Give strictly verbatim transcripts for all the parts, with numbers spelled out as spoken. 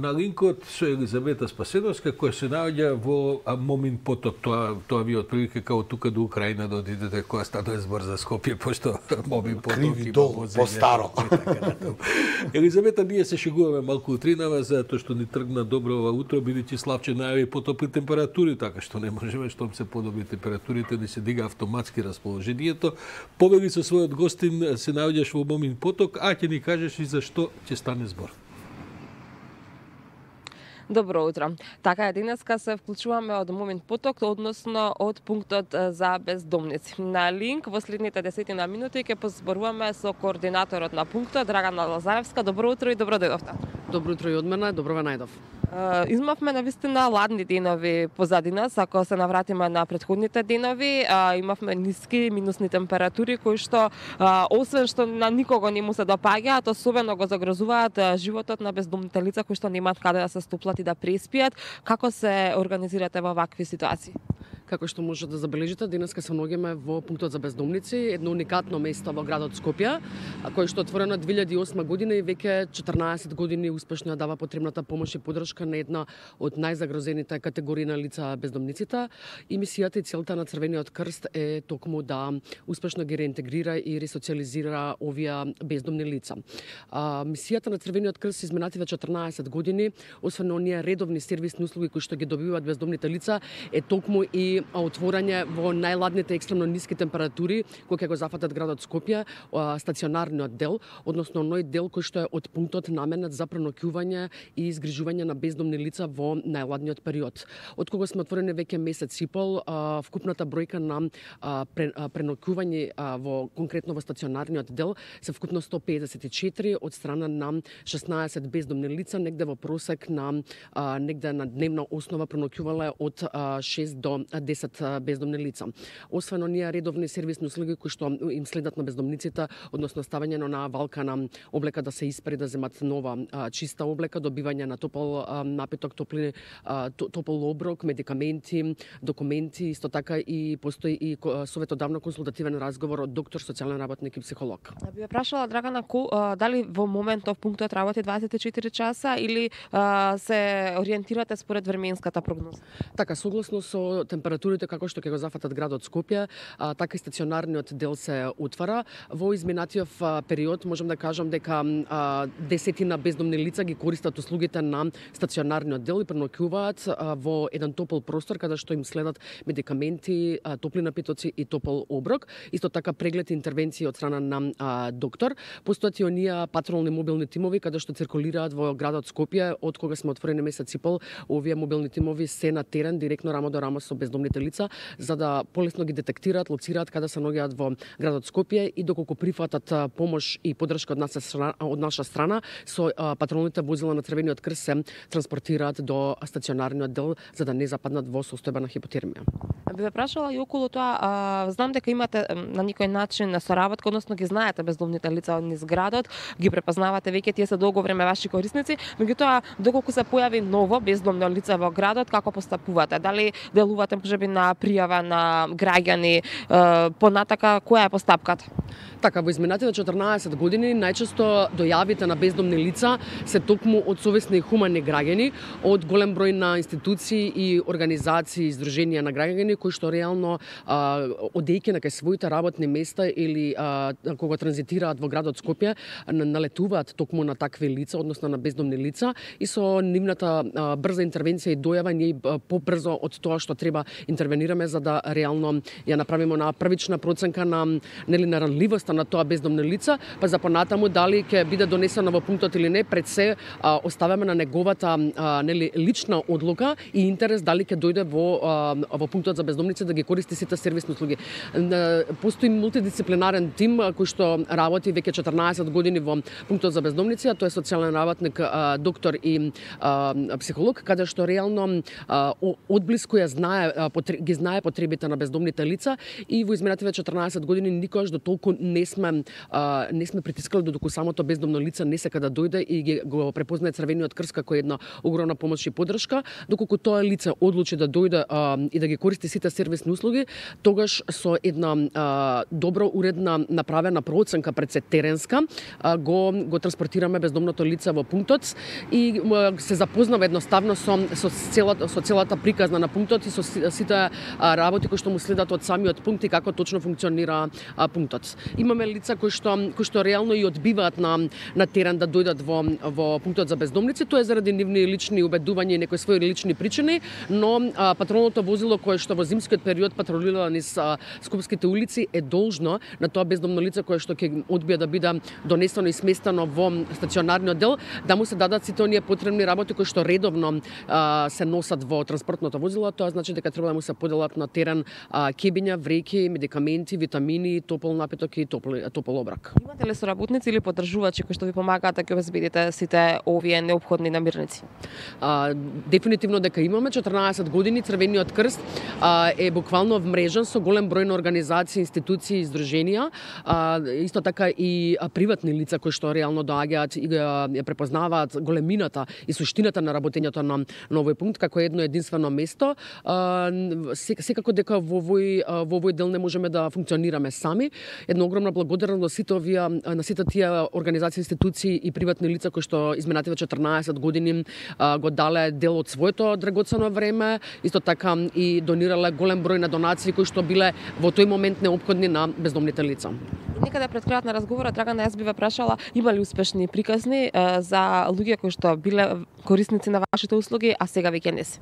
на линкот со Елизавета Спасеновска, која се наоѓа во Момин поток. Тоа, тоа ви отприлike као тука до Украина да одидете кога станува збор за Скопје, пошто Момин поток Криви дол, по-старо. Елизавета, ние се шегуваме малку утринава, затоа што ни тргна добро ова утро, бидејќи Славче најави потопли температури, така што не можеме, штом се подобри температурите, ни се дига автоматски расположението. Повели со својот гостин се наоѓаш во Момин поток, а ќе ни кажеш и за што ќе стане збор. Добро утро. Така е, денеска се вклучуваме од Момин поток, односно од пунктот за бездомници. На линк во следните десетина минути ќе позборуваме со координаторот на пунктот, Драгана Лазаревска. Добро утро и добро дојдовте. Добро утро и од мене, добро ве најдов. Uh, измавме навистина ладни денови позади нас, ако се навратиме на претходните денови, uh, имавме ниски минусни температури кои што uh, освен што на никого не му се допаѓаат, особено го загрозуваат uh, животот на бездомните лица кои што немаат каде да се стоплат и да преспијат. Како се организирате во вакви ситуации? Како што може да забележите, денеска се наоѓаме во пунктот за бездомници, едно уникатно место во градот Скопје, кој што е отворено две илјади и осма година и веќе четрнаесет години успешно ја дава потребната помош и поддршка на една од најзагрозените категории на лица бездомниците. И мисијата и целта на Црвениот крст е токму да успешно ги реинтегрира и ресоциализира овие бездомни лица. А, мисијата на Црвениот крст изминативе четрнаесет години, освен оние редовни сервисни услуги кои што ги добиваат бездомните лица, е токму и отворање во најладните екстремно ниски температури кои ќе го зафатат градот Скопје, стационарниот дел, односно оној дел кој што е од пунктот наменет за преноќување и изгрижување на бездомни лица во најладниот период. Од кога сме отворени веќе месец и пол, вкупната бројка на преноќување во конкретно во стационарниот дел се вкупно сто педесет и четири од страна на шеснаесет бездомни лица, негде во просек на негде на дневна основа преноќувале од шест до десет бездомни лица. Освен оние редовни сервисни услуги кои што им следат на бездомниците, односно ставање на валка на облека да се испери, да земат нова а, чиста облека, добивање на топол а, напиток, топли, а, топол оброк, медикаменти, документи, исто така и постои и советодавно консултативен разговор од доктор, социјален работник и психолог. Би ве прашала, Драгана, ку, а, дали во моментов пунктот работи дваесет и четири часа или а, се ориентирате според временската прогноза? Така, согласно со температурите како што ќе го зафатат градот Скопје, а, така и стационарниот дел се отвара. Во изминатиот период можам да кажам дека а, десетина бездомни лица ги користат услугите на стационарниот дел и преноќуваат во еден топол простор каде што им следат медикаменти, а, топли напитоци и топол оброк. Исто така преглед и интервенции од страна на а, доктор. Постојат и оние патролни мобилни тимови каде што циркулираат во градот Скопје од кога сме отворени месец и пол. Овие мобилни тимови се на терен директно рамо до рамо со бездомните лица за да полесно ги детектираат, лоцираат каде се наоѓаат во градот Скопје и доколку прифатат помош и поддршка од наша страна, од наша страна со а, патролните возила на Црвениот крст се транспортираат до стационарниот дел за да не западнат во состојба на хипотермија. Би ве прашала и околу тоа, а, знам дека имате на некој начин на соработка, односно ги знаете бездомните лица низ градот, ги препознавате веќе, тие се долго време ваши корисници, меѓутоа доколку се појави ново бездомно лице во градот, како постапувате? Дали делувате можеби на пријава на граѓани, понатака која е постапката? Така, во изминативе четрнаесет години најчесто дојавите на бездомни лица се токму од совесни и хумани граѓани, од голем број на институции и организации, издруженија на граѓани кои што реално а, одејќи на кај своите работни места или а, кога транзитираат во градот Скопје, налетуваат токму на такви лица, односно на бездомни лица и со нивната а, брза интервенција и дојава ние побрзо од тоа што треба интервенираме за да реално ја направиме на првична проценка на нели на ранливоста на тоа бездомно лица, па за понатаму дали ќе биде донесено во пунктот или не, пред се а, оставаме на неговата а, нели лична одлука и интерес дали ќе дојде во а, во пунктот за бездомници да ги користи сите сервисни услуги. Постои мултидисциплинарен тим кој што работи веќе четрнаесет години во пунктот за бездомници, а тоа е социјален работник, а, доктор и а, психолог, каде што реално а, одблиску ја знае, а, потр... ги знае потребите на бездомните лица и во изминативе четрнаесет години никогаш до толку не не сме а, не сме притискали додека самото бездомно лице не сека да дојде и ги, го препознае Црвениот крст како една огромна помош и поддршка, доколку тоа лице одлучи да дојде а, и да ги користи сите сервисни услуги, тогаш со една а, добро уредна направена проценка пред се теренска, а, го го транспортираме бездомното лице во пунктот и а, се запознава едноставно со со целата со целата приказна на пунктот и со сите а, работи кои што му следат од самиот пункт и како точно функционира а, пунктот. Имаме лица кои што кои што реално и одбиваат на на терен да дојдат во во пунктот за бездомници, тоа е заради нивни лични убедувања и некои своји лични причини, но а, патролното возило кое што во зимскиот период патролира низ а, скопските улици е должно на тоа бездомно лице кое што ќе одбие да биде донесено и сместено во стационарниот дел, да му се дадат сите оние потребни работи кои што редовно а, се носат во транспортното возило. Тоа значи дека треба да му се поделат на терен а, кебиња, вреќи, медикаменти, витамини, топол напиток и топол, топол обрак. Имате ли соработници или поддржувачи кои што ви помагаат да ќе обезбедите сите овие неопходни намирници? А, дефинитивно дека имаме четрнаесет години Црвениот крст а, е буквално вмрежен со голем број на организации, институции и здруженија, а, исто така и а, приватни лица кои што реално доаѓаат и ја препознаваат големината и суштината на работењето на, на овој пункт како едно единствено место. А, секако дека во овој во овој дел не можеме да функционираме сами. Една огромна благодарност на сите овие на сите тие организации, институции и приватни лица кои што изминативе четрнаесет години а, го дале дел од своето драгоцено време, исто така и донирале голем број на донации кои што биле во тој момент неопходни на бездомните лица. Некаде пред крајот на разговорот, Драгана, јас би ве прашала, има ли успешни приказни е, за луѓе кои што биле корисници на вашите услуги, а сега веќе не се?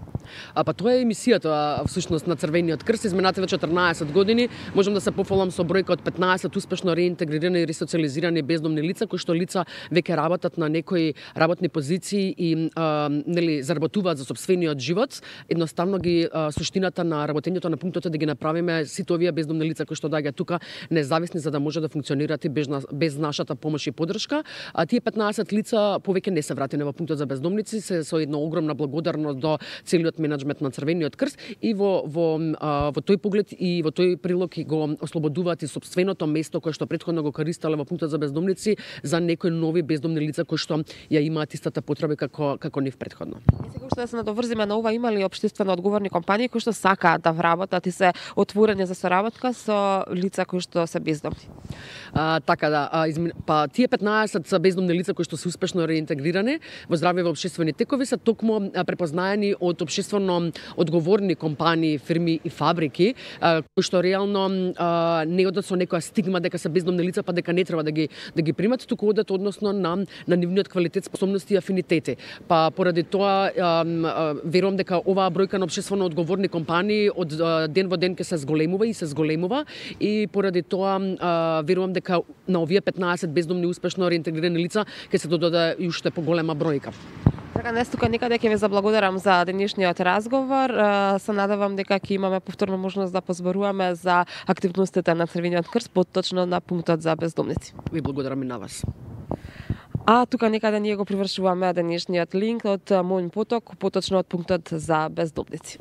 А па тоа е емисијата всушност на Црвениот крст изминативе четрнаесет години. Можам да се пофалам со бројка од петнаесет успешно реинтегрирани и ресоциализирани бездомни лица кои што лица веќе работат на некои работни позиции и а, нели заработуваат за сопствениот живот. Едноставно ги а, суштината на работењето на пунктот е да ги направиме сите овие бездомни лица кои што доаѓаат тука независни за да може да функционираат и без, без нашата помош и поддршка. А тие петнаесет лица повеќе не се вратени во пунктот за бездомници, се со една огромна благодарност до целиот менаџмент на Црвениот крст и во во а, во тој поглед и во тој прилог и го ослободуваат и сопственото место кое што претходно го користеле во пунктот за бездомници за некои нови бездомни лица кои што ја имаат истата потреба како како нив претходно. И сега што да се надоврзиме на ова, има ли општествено одговорни компании кои што сакаат да вработат и се отворени за соработка со лица кои што се бездомни? А, така да, а, изми... па тие петнаесет бездомни лица кои што се успешно реинтегрирани во здравје во општествени текови се токму препознаени од општествено одговорни компании, фирми и фабрики а, кои што реално а, не одат со некоја стигма дека се бездомни лица па дека не треба да ги да ги примат, туку одат односно на на нивниот квалитет, способности и афинитети. Па поради тоа а, а, верувам дека оваа бројка на општествено одговорни компании од а, ден во ден ќе се зголемува и се зголемува и поради тоа а, верувам дека на овие петнаесет бездомни успешно реинтегрирани лица ќе се додаде и уште поголема бројка. Така, днес тука некаде ќе ве заблагодарам за денешниот разговор. Се надевам дека ќе имаме повторно можност да позборуваме за активностите на Црвениот крст, поточно на пунктот за бездомници. Ви благодарам и на вас. А тука некаде ние го привршуваме денешниот линк од Мојн поток, поточно од пунктот за бездомници.